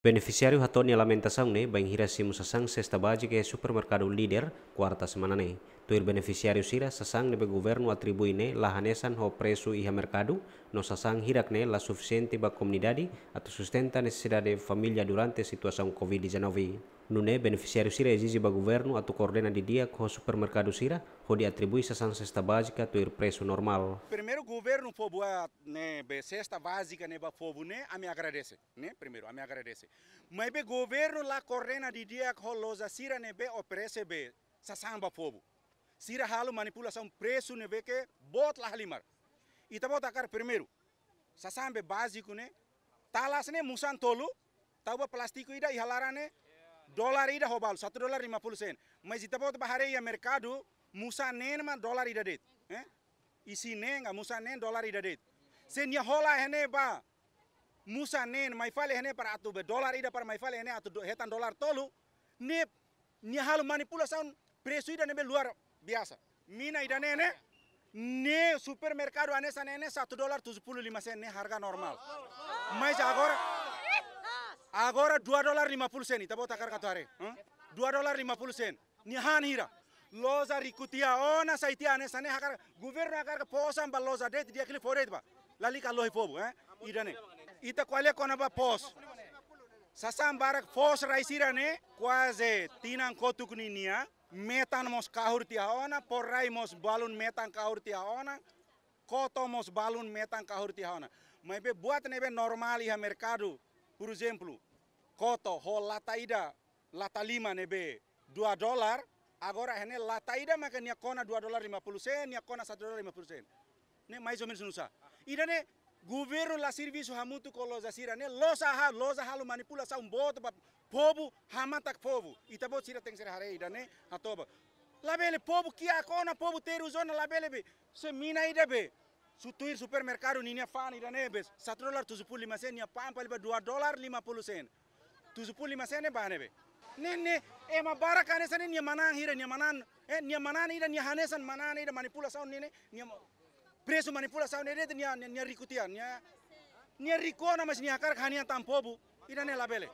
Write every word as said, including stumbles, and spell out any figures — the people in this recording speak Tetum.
Benefisiáriu hato'o nia lamentasaun ne'e bainhira simu sasán sesta bázika iha supermerkadu Líder, kuarta semana ne'e. Tuir benefisiáriu sira, sasán ne'ebé governu atribui ne'e la hanesan ho presu iha merkadu, no sasán hirak ne'e la sufisiente ba komunidade atu sustenta nesesidade família durante situasaun covid dezanove. Nune'e benefisiáriu sira ezije ba governu atu koordena didi'ak ho supermerkadu sira, hodi atribui sasán sesta bázika tuir presu normál. Primeiru, governu fó buat ne'ebé sesta bázika ne'e ba povu ne'e, ami agradese, ne'e? Primeiru, ami agradese. Maibé governu la koordena didi'ak ho loja sira ne'ebé oferese be sasán ba povu. Sira halo manipulasaun presu ne'ebé ke boot la halimar. Ita-boot hakarak primeiru, sasán be báziku ne'e, talas ne'e musan tolu, tau ba plástiku ida iha laran ne'e, dolar ida ho balu, satu dolar lima puluh sen. Mas ita-boot bá haree iha merkadu, musan neen mak dolar ida de'it, eh? Isin neen ka musan neen dolar ida de'it. Se nia hola iha ne'e ba musan neen, mai fali iha ne'e para atu be dolar ida para mai fali iha ne'e atu do-, hetan dolar tolu, ne'e nia halo manipulasaun presu ida ne'ebé luar biasa. Mina ida-ne'e ne'e, ne'e supermerkadu hanesan ne'e ne'e satu dolar tujuh puluh lima sen ne'e harga normál. Mas agora, agora dua dolar lima puluh sen, ita-boot hakarak atu haree, hah? Dua dolar lima puluh sen. Nia han hira. Loja riku tiha ona, sai tiha hanesan ne'e hakarak, governu hakarak fó osan ba loja de'it, di'ak liu fó de'it ba. Lalika lohi povu, eh? Ida-ne'e. Ita ko'alia kona-ba pos. Sasán barak fos rai sira-ne'e, kuaze tinan kotuk ninia, metan mós kahur tiha ona, pos rai mós balun metan kahur tiha ona, koto mós balun metan kahur tiha ona. Maibé buat ne'ebé normál iha merkadu, por ezemplu, koto ho lata ida, lata lima ne'ebé dua dolar, agora iha ne'e lata ida maka nia kona dua dolar lima puluh sen, nia kona satu dolar lima puluh sen. Ne'e mais ou menus nusá. Ida-ne'e governu la servisu hamutuk ho loja sira-ne'e, loja ha-, loja halo manipulasaun boot ba povu, hamatak povu. Ita-boot sira tenke ser haree ida-ne'e, hatoba. Labele povu kiak ona, povu terus ona, labele be. Se mina ida be. Su-, tuir supermerkadu ninia fa'an ida-ne'e be satu dolar tujuh puluh lima sen, nia pa'an fali ba dua dolar lima puluh sen. Tujuh puluh lima sen ne'e ba ne'ebé? Ne'e, ne'e, ema barak hanesan ne'e nia manán hira, nia manán, eh, nia manán ida, nia hanesan manán ida manipulasaun ne'e, ne'e, nia ma-, presu manipulasaun ne'e de'it nia, nia, nia riku tiha, nia, nia riku ona mas nia hakarak hanian tan povu, ida-ne'e labele.